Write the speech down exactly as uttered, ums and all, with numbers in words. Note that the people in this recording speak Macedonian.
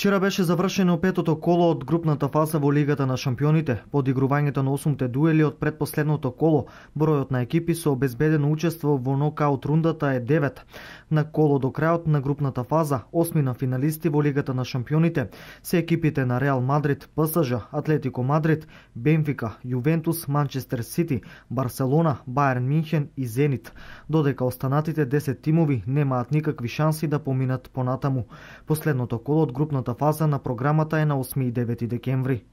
Вчера беше завршено петото коло од групната фаза во Лигата на шампионите. По одигрувањето на осумте дуели од предпоследното коло, бројот на екипи со обезбедено учество во нокаут рундата е девет. На коло до крајот на групната фаза, осмина финалисти во Лигата на шампионите се екипите на Реал Мадрид, ПСЖ, Атлетико Мадрид, Бенфика, Јувентус, Манчестер Сити, Барселона, Бајерн Минхен и Зенит, додека останатите десет тимови немаат никакви шанси да поминат понатаму. Последното коло од групната фаза на програмата е на осми и девети декември.